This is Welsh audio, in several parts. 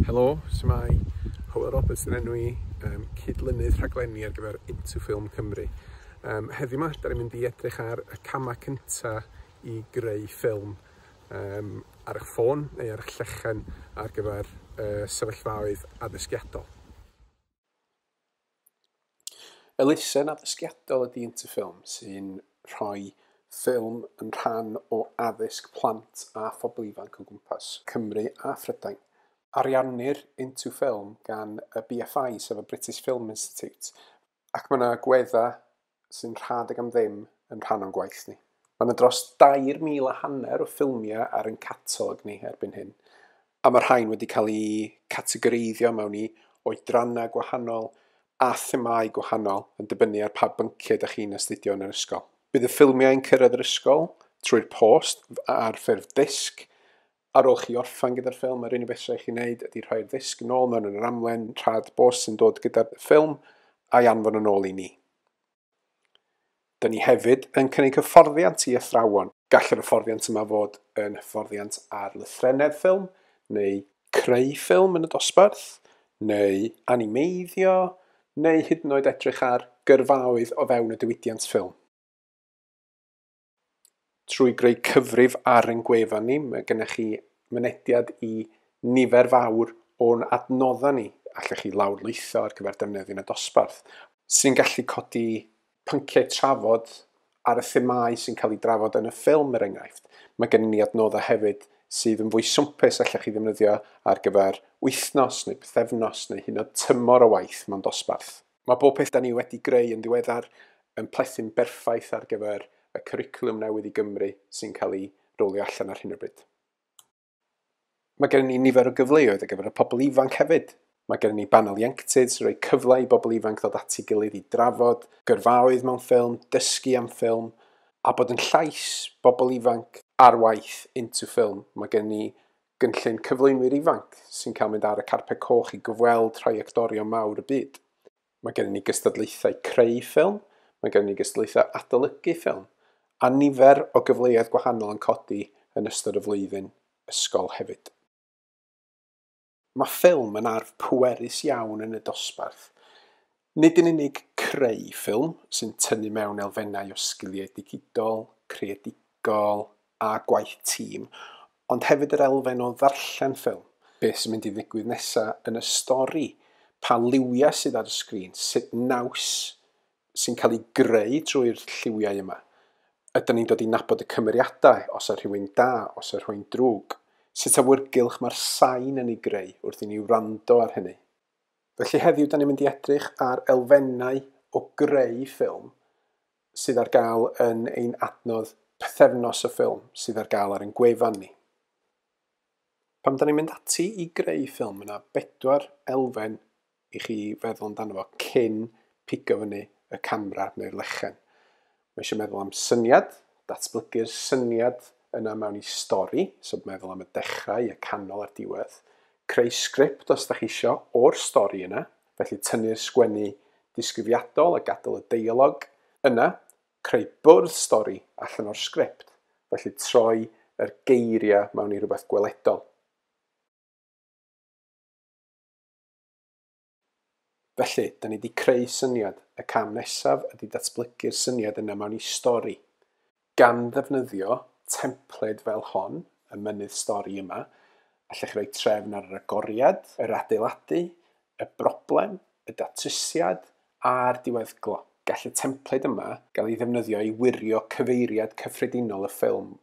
Helo, shwmae? Hywel Roberts yn enw i, cydlynydd rhaglenni ar gyfer Into Film Cymru. Heddiw 'ma, da ni'n mynd i edrych ar y camau cynta i greu ffilm ar eich ffôn neu ar eich llechen ar gyfer sefyllfaoedd addysgiadol. Elusen addysgiadol ydy Into Film sy'n rhoi ffilm yn rhan o addysg plant a phobl ifanc o gwmpas Cymru a Phrydain. Ariannir Into Film gan y BFI, sef y British Film Institute, ac mae yna agweddau sy'n rhad ac am ddim yn rhan o'n gwaith ni. Mae yna dros 3,500 o ffilmiau ar ein catalog ni erbyn hyn, a mae'r rhain wedi cael eu categoreiddio mewn i oedrannau gwahanol a themâu gwahanol yn dibynnu ar pa bynciau ydych chi'n astudio yn yr ysgol. Bydd y ffilmiau yn cyrraedd yr ysgol trwy'r post ar ffurf disg. Ar ôl chi orffen gyda'r ffilm, yr unig beth sy'n rhaid chi wneud ydy rhoi'r ddisg yn ôl mewn yn yr amlen rhad bost sy'n dod gyda'r ffilm a'i anfon yn ôl i ni. Dyn ni hefyd yn cynnig hyfforddiant i athrawon. Gall yr hyfforddiant yma fod yn hyfforddiant ar lythrennedd ffilm, neu creu ffilm yn y dosbarth, neu animeiddio, neu hyd yn oed edrych ar gyrfaoedd o fewn y diwydiant ffilm. Trwy greu cyfrif ar ein gwefan ni, mae gennych chi mynediad i nifer fawr o'n adnoddau ni. Allwch chi lawrlwytho ar gyfer defnyddio yn y dosbarth, sy'n gallu codi pynciau trafod ar y themâu sy'n cael ei drafod yn y ffilm, er enghraifft. Mae gennym ni adnoddau hefyd sydd yn fwy swmpus allwch chi ddefnyddio ar gyfer wythnos neu pythefnos neu hyd yn oed tymor o waith mewn dosbarth. Mae bob peth da ni wedi greu yn ddiweddar yn plethu'n berffaith ar gyfer y cwricwlwm newydd i Gymru sy'n cael ei rolio allan ar hyn o bryd. Mae gennym ni nifer o gyfleoedd ar gyfer y pobl ifanc hefyd. Mae gennym ni banel ieuenctid sy'n rhoi cyfle i bobl ifanc ddod at ei gilydd i drafod gyrfaoedd mewn ffilm, dysgu am ffilm, a bod yn llais bobl ifanc ar waith Into Film. Mae gennym ni gynllun cyflwynwyr ifanc sy'n cael mynd ar y carped coch i gyfweld rhai actorion mawr y byd. Mae gennym ni gystadlaethau creu ffilm, mae gennym ni gystadlaethau adolygu ffilm, a nifer o gyfleoedd gwahanol yn codi yn ystod y flwyddyn ysgol hefyd. Mae ffilm yn arf pwerus iawn yn y dosbarth. Nid yn unig creu ffilm sy'n tynnu mewn elfennau o sgiliau digidol, creadigol a gwaith tîm, ond hefyd yr elfen o ddarllen ffilm. Beth sy'n mynd i ddigwydd nesaf yn y stori, pa liwiau sydd ar y sgrin, sut naws sy'n cael ei greu trwy'r lliwiau yma. Ydyn ni'n dod i nabod y cymeriadau, os yw rhywun da, os yw rhywun drwg. Sut awyrgylch mae'r sain yn ei greu wrth i ni wrando ar hynny. Felly heddiw, da ni'n mynd i edrych ar elfennau o greu ffilm sydd ar gael yn ein adnodd pythefnos y ffilm sydd ar gael ar ein gwefan ni. Pan da ni'n mynd ati i greu ffilm, yna bedwar elfen i chi feddwl amdano fo cyn pigo fyny y camera neu'r lechen. Mae eisiau meddwl am syniad, datblygu'r syniad yna mewn i stori, so meddwl am y dechrau, y canol a'r diwedd. Creu sgript os da chi isio o'r stori yna, felly tynnu'r sgwennu disgrifiadol a gadael y deialog. Yna, creu bwrdd stori allan o'r sgript, felly troi yr geiriau mewn i rhywbeth gweledol. Felly, da ni wedi creu syniad. Y cam nesaf ydy datblygu'r syniad yna mewn i stori. Gan ddefnyddio templed fel hon, y mynydd stori yma, allech chi roi trefn ar yr agoriad, yr adeiladu, y broblem, y datrysiad a'r diweddglo. Gall y templed yma gael ei ddefnyddio i wirio cyfeiriad cyffredinol y ffilm.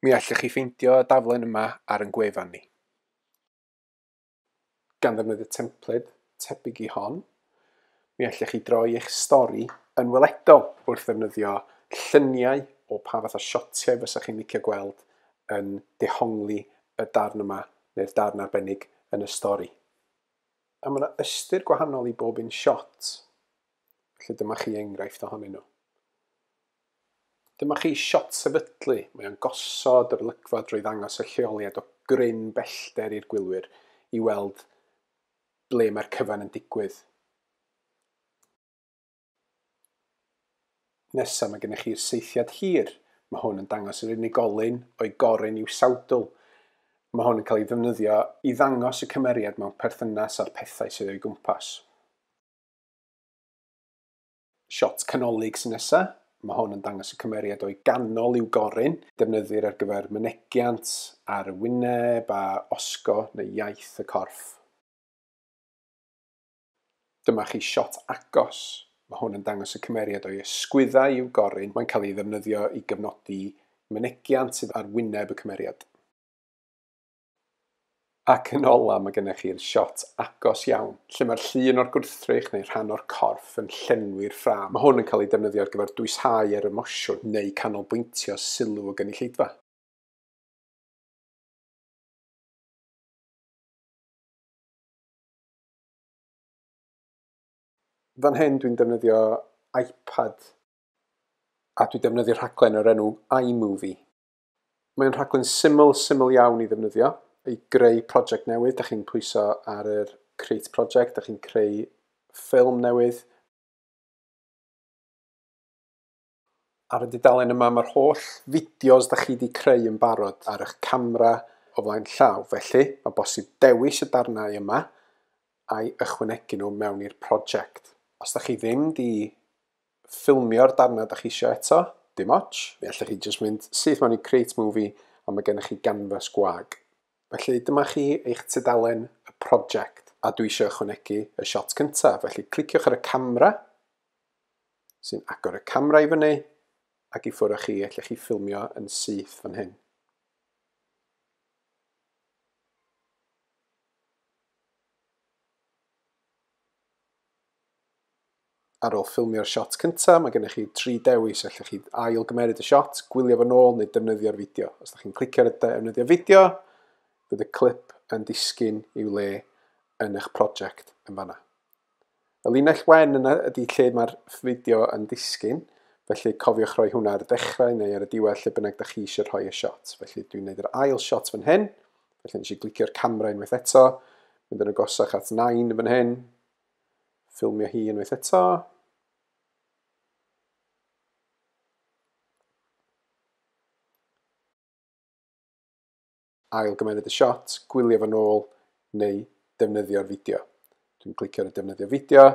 Mi allwch chi ffeindio y daflen yma ar ein gwefan ni. Gan ddefnyddio templed tebyg i hon, mi allwch chi droi eich stori yn weledol wrth ddefnyddio lluniau o pa fath o siotiau fysa chi'n licio gweld yn dehongli y darn yma neu'r darn arbennig yn y stori. A mae yna ystyr gwahanol i bob un siot. Felly dyma chi enghraifft ohonyn nhw. Dyma chi siot sefydlu. Mae o'n gosod yr olygfa drwy ddangos y lleoliad o gryn bellter i'r gwylwyr i weld ble mae'r cyfan yn digwydd. Nesa mae gennych chi'r saethiad hir. Mae hwn yn dangos yr unigolyn o'i gorun i'w sawdl. Mae hwn yn cael ei ddefnyddio i ddangos y cymeriad mewn perthynas â'r pethau sydd o'i gwmpas. Siot canolig sy'n nesaf. Mae hwn yn dangos y cymeriad o'i ganol i'w goryn. Defnyddir ar gyfer mynegiant ar y wyneb a osgo neu iaith y corff. Dyma chi siot agos. Mae hwn yn dangos y cymeriad o'i ysgwyddau i'w goryn. Mae'n cael ei ddefnyddio i gyfnodi mynegiant sydd ar wyneb y cymeriad. Ac yn ola, mae gennych chi'r siot agos iawn, lle mae'r llun o'r gwrthrych neu rhan o'r corff yn llenwi'r ffrâm. Mae hwn yn cael ei defnyddio ar gyfer dwyshau yr emosiwn neu canolbwyntio sylw y gynulleidfa. Fan hyn dwi'n defnyddio iPad a dwi'n defnyddio rhaglen o'r enw iMovie. Mae'n rhaglen syml, syml iawn i ddefnyddio. I greu prosiect newydd, da chi'n pwyso ar yr Create Project, da chi'n creu ffilm newydd. Ar y dudalen yma mae'r holl fideos da chi wedi creu yn barod ar eich camera o flaen llaw. Felly, mae bosib dewis y darnau yma a'i ychwanegu nhw mewn i'r prosiect. Os da chi ddim di ffilmio'r darnau da chi eisiau eto, dim ots. Fe allwch chi jyst mynd syth mewn i Create Movie a mae gennych chi ganfas gwag. Felly dyma chi eich tudalen y prosiect a dwi eisiau ychwanegu y siot cyntaf. Felly cliciwch ar y camera sy'n agor y camera i fyny ac i ffwrdd â chi, allwch chi ffilmio yn syth fan hyn. Ar ôl ffilmio'r siot cyntaf, mae gennych chi tri dewis. Allwch chi ail gymeryd y siot, gwylio fo nôl neu defnyddio'r fideo. Os ydych chi'n clicio ar y defnyddio fideo, bydd y clip yn disgyn i'w le yn eich prosiect yn fanna. Y linell wen yna ydy lle mae'r fideo yn disgyn, felly cofiwch rhoi hwnna ar y dechrau neu ar y diwedd lle bynnag da chi eisiau rhoi y siot. Felly dwi'n gwneud yr ail siot fan hyn, felly nes i glicio'r camera unwaith eto, mynd yn agosach at 9 fan hyn, ffilmio hi unwaith eto. Ail gymeryd y siot, gwylio fo nôl neu defnyddio'r fideo. Dwi'n clicio ar y defnyddio fideo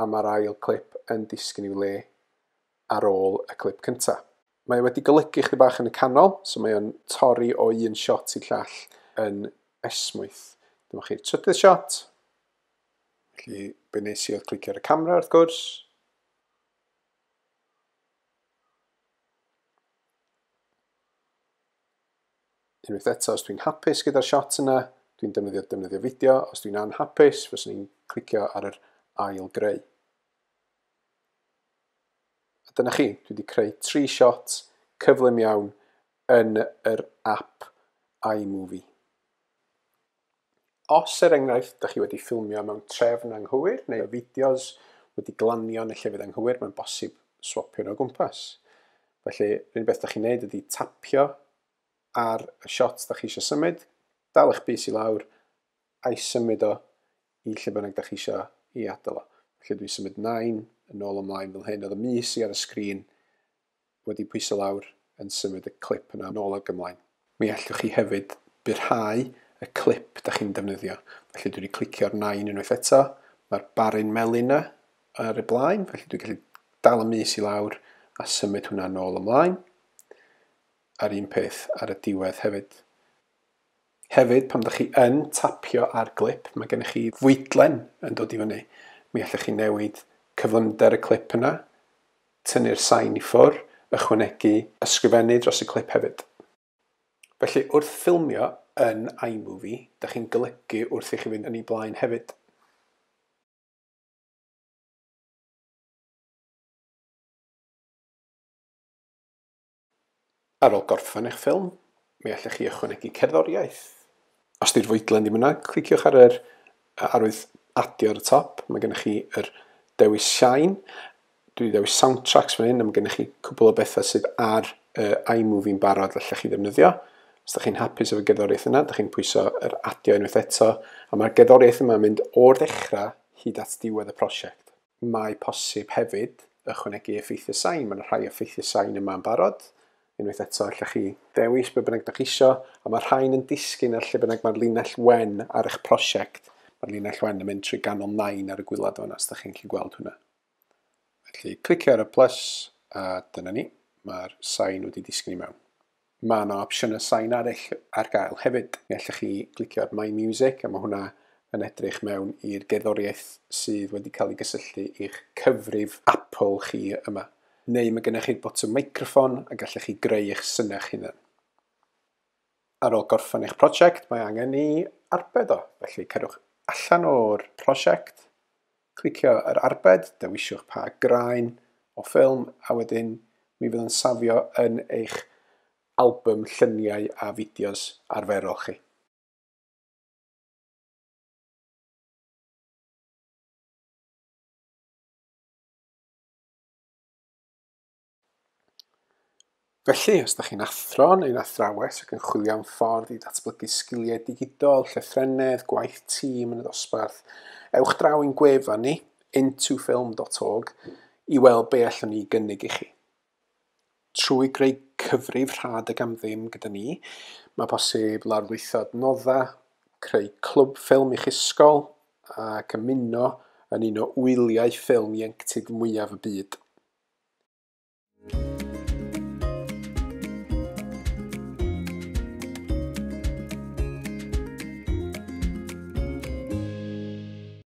a mae'r ail clip yn disgyn i'w le ar ôl y clip cyntaf. Mae wedi golygu chydig bach yn y canol, so mae o'n torri o un siot i'r llall yn esmwyth. Dyma chi'r trydydd siot. Felly, be nes i oedd clicio ar y camera wrth gwrs. Unwaith eto, os dwi'n hapus gyda'r siot yna, dwi'n defnyddio fideo. Os dwi'n anhapus, fyswn i'n clicio ar yr ail greu. A dyna chi, dwi wedi creu tri siot cyflym iawn yn yr app iMovie. Os, er enghraifft, da chi wedi ffilmio mewn trefn anghywir neu fideos wedi glanio yn y llefydd anghywir, mae'n bosib swapio nhw o gwmpas. Felly, yr unig beth da chi'n neud ydy tapio ar y siot da chi eisiau symud, dal eich bys i lawr a'i symud o i lle bynnag da chi eisiau i adael o. Felly dwi'n symud 9 yn ôl ymlaen fel hyn. Oedd y mys i ar y sgrin wedi pwyso lawr yn symud y clip yna yn ôl ag ymlaen. Mi allwch chi hefyd byrhau y clip da chi'n defnyddio. Felly dwi wedi clicio'r 9 unwaith eto. Mae'r baryn melyn yna ar y blaen, felly dwi'n gallu dal y mys i lawr a symud hwnna nôl ymlaen. A'r un peth ar y diwedd hefyd. Hefyd, pan ydych chi yn tapio ar glip, mae gennych chi fwydlen yn dod i fyny. Mi allwch chi newid cyflymder y clip yna, tynnu'r sain i ffwrdd, ychwanegu ysgrifennu dros y clip hefyd. Felly, wrth ffilmio yn iMovie, dych chi'n golygu wrth i chi fynd yn ei blaen hefyd. Ar ôl gorffen eich ffilm, mi allwch chi ychwanegu cerddoriaeth. Os di'r fwydlen ddim yna, cliciwch ar yr arwydd adio ar y top. Mae gennych chi yr dewis sain. Dwi wedi dewis soundtracks fan hyn, a mae gennych chi cwbl o bethau sydd ar iMovie'n barod allwch chi ddefnyddio. Os ydych chi'n hapus efo gerddoriaeth yna, ydych chi'n pwyso yr adio unwaith eto, a mae'r gerddoriaeth yma'n mynd o'r dechrau hyd at diwedd y prosiect. Mae posib hefyd ychwanegu effeithiau sain. Mae yna rhai effeithiau sain yma'n barod. Unwaith eto, allwch chi ddewis be bynnag dach chi isio, a mae rhain yn disgyn ar lle bynnag mae'r linell wen ar eich prosiect. Mae'r linell wen yn mynd trwy ganol nain ar y gwaelod fan'na, os dach chi'n gallu gweld hwnna. Felly, clicio ar y plus, a dyna ni, mae'r sain wedi disgyn i mewn. Mae yna opsiynau sain arall ar gael hefyd. Mi allwch chi glicio ar My Music, a mae hwnna yn edrych mewn i'r gerddoriaeth sydd wedi cael ei gysylltu i'ch cyfrif Apple chi yma. Neu mae gennych chi'r botwm meicroffon a gallech chi greu eich synau eich hunan. Ar ôl gorffen eich prosiect, mae angen i arbed o. Felly cerwch allan o'r prosiect, clicio ar arbed, dewiswch pa graen o ffilm, a wedyn mi fydd yn safio yn eich album lluniau a fideos arferol chi. Felly, os ydych chi'n athro neu'n athrawes ac yn chwilio am ffordd i ddatblygu sgiliau digidol, llythrennedd, gwaith tîm yn y dosbarth, ewch draw i'n gwefan ni, intofilm.org, i weld be allwn ni gynnig i chi. Trwy greu cyfrif rhad ac am ddim gyda ni, mae posib lawrlwytho adnoddau, creu clwb ffilm i'ch ysgol ac ymuno yn un o wyliau ffilm ieuenctid mwyaf y byd.